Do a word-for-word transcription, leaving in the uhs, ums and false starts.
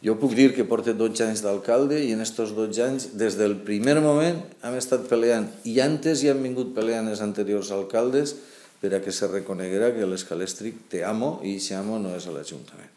Jo puc dir que porto dotze anys d'alcalde i en aquests dotze anys, des del primer moment, hem estat peleant, i antes hi han vingut peleant els anteriors alcaldes per a que se reconeguera que l'Escalèstric té amo i aquest amo no és l'Ajuntament.